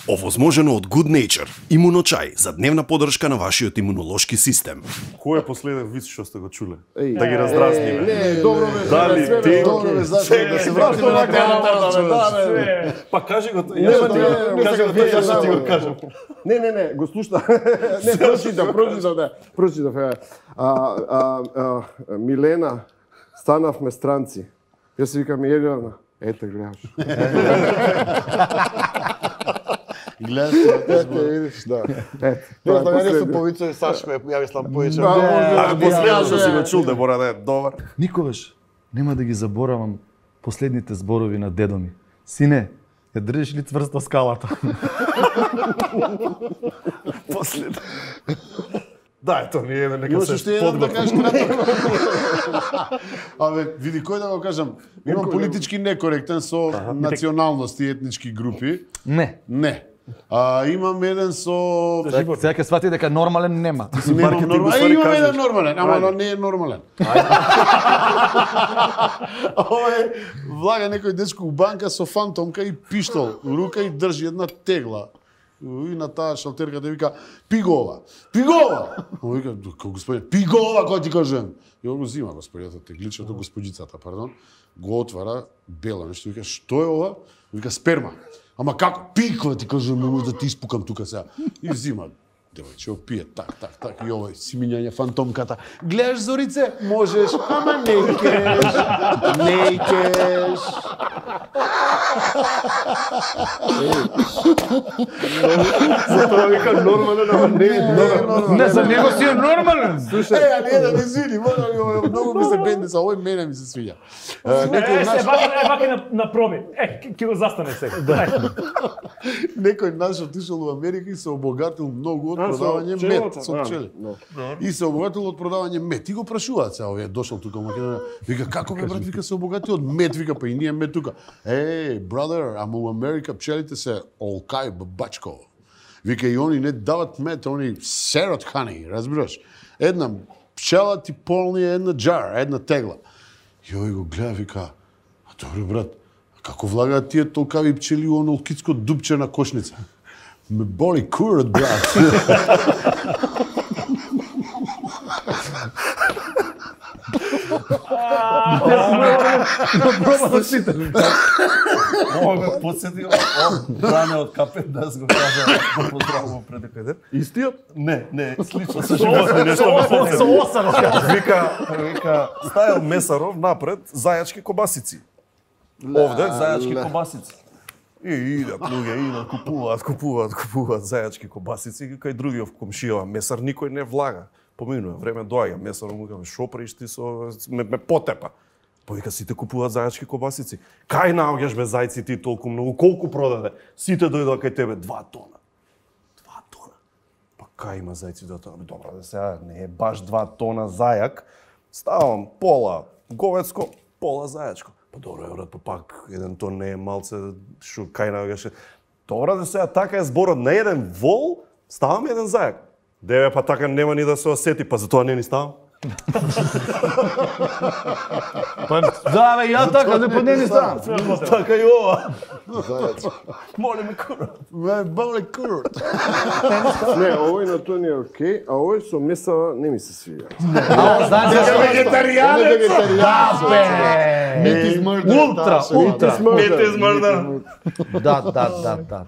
Овозможено од Good Nature, имуночај за дневна поддршка на вашиот имунолошки систем. Кој е последен виц што сте го чуле? Да ги раздразниме. Не, добро ме. Дали ти? Добро ме, зашто да се вратиме на темата. Па кажи го, јас што ти го кажам. Не, го слушна. Не, прочитав. Милена, станавме странци. Јас се викам Елена. Ете, гледаш. Гледаш, видиш, да. Тоа да не се повицови Сашко, ја мислам повеќе. А последно што си го чул да мора да е добар. Никогаш нема да ги заборавам последните зборови на дедо ми. Сине, ја држиш ли цврсто скалата? Последно. Да, ето ни еден нека Имаш се уште еден да подготви. кажеш кратко. Абе, види кој да го кажам. Имам политички некоректен со националности и етнички групи. Не. Не. Имам еден со... Сега ќе свати дека нормален нема. Немам нормален. Имам еден нормален, ама не е нормален. Ова е влага некој дечко у банка со фантомка и пиштол у рука и држи една тегла. И на таа шалтерката вика пигова. Пигова. Он вика господин пигова кој ти кажам. И он го зима господјата тегличето господјицата, пардон. Го отвара бело нешто вика што е ова? Вика сперма. Ама како пиква ти кажам, може да ти испукам тука сега. И взима девојче, опие так и овој симињање фантомката. Гледаш Зорице? Можеш, ама не кеш. Затоа вика нормален, ама не е нормален. Не, за него си е нормален. Али еден, извини, многу ми се бенди, са овој мене ми се свиѓа. Вака на проби. Ќе го застане сега. Некој наш отишол у Америка и се обогатил многу од продавање мед со пчели. И се обогатил од продавање мед. И го прашуваат сега, овие дошол тука во Македонија. Вика како бе брат, вика се обогатил од мед, вика па и ние мед тука. Brother, ама у Америка пчелите се олкај бабачко. Вика и они не дават мед, они серат хани, разбираш? Една пчела ти полни една джар, една тегла. И овој го гледа, вика, добре брат, како влагаат тие толкави пчели у оно олкицко дупче на кошница? Ме боли курот, брат. Ова ме подсетил Бране од Капет да го кажа да поздравувам пред некој ден. Истиот? Не, слично со животни нешто ме подсетил. Со осаров. Вика, стајал месаров напред зајачки кобасици. Овде зајачки кобасици. И идат луѓе, купуваат зајачки кобасици, кај другиот комшија месар никој не влага. Поминува време доаѓа месарот му каже шо правиш ти со ме потепа. Повика сите купуваат зајачки кобасици. Кај наоѓаш бе зајци ти толку многу, колку продаде? Сите дојдоа кај тебе 2 тона. 2 тона. Па кај има зајци да тоа? Добро, да сега не е баш 2 тона зајак. Ставам пола говецко, пола зајачко. Па добро, брат, па пак еден тон не е малце, шо кај наоѓаш. Добро, да сега така е зборот на еден вол, ставам еден зајак. Деве, па така нема ни да се осети, па затоа не ни ставам. Па да, бе, ја така, не поднени ставам. Така и ова. Моли ме курот. Ме боли курот. Не, овој на тој не е окей, а овој со месава не ми се свиѓа. Знаеш зашто? Вегетаријанец. Да, бе. Meat is murder. Ултра. Мете измрда. Да.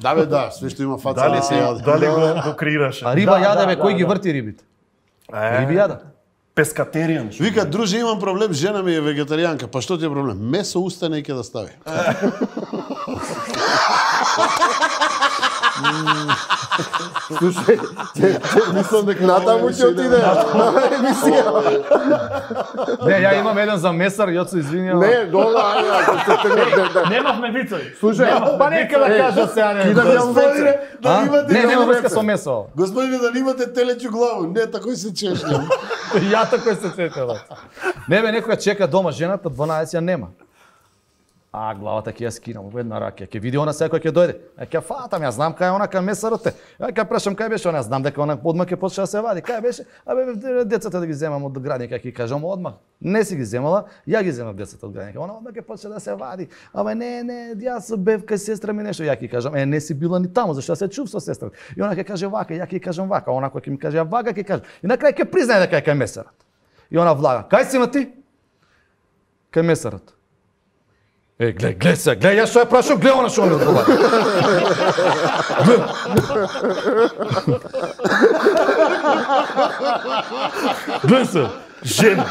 Да бе, да, све што има фаца да се јаде. Дали го креираше? А риба јаде, бе, кој ги врти рибите? Риби јаде. Пескатеријан. Вика, друже, имам проблем, жена ми е вегетаријанка. Па што ти е проблем? Месо устане и ќе да стави. Слушај, мислам дека натаму ќе отиде емисија. Не, ја имам еден за месар, Јоцо, извини. Не, добро, ајде, Немавме вицови. слушај, Па нека да кажа сега не. да јам веќе. Да имате Не, нема врска со месо. Господине, да имате телеќу главу. Не, такој се чешњам. Ја тако се сетела. Не бе, некоја чека дома жената, 12 ја нема. А главата ќе ја скинам во една рака, ќе види она секој ќе дојде. Ќе фатам, ја знам кај она кај месарот е. Ја прашам кај беше она, знам дека она одма ќе почне да се вади. Кај беше? Децата да ги земам од градинка, ќе кажам одма. Не си ги земала, ја ги земав децата од градинка. Она одма ќе почне да се вади. Не, јас бев кај сестра ми нешто, ја ќе кажам, не си била ни таму, зашто се чув со сестра. И она ќе каже вака, ја ќе кажам вака, она кој ќе ми каже вака ќе каже. И на крај ќе признае дека е кај месарот. И она влага, кај си ма ти? Кај месарот. Глеј се, јас што ја прашам, глеј она што ми одговара. Глеј се, жена.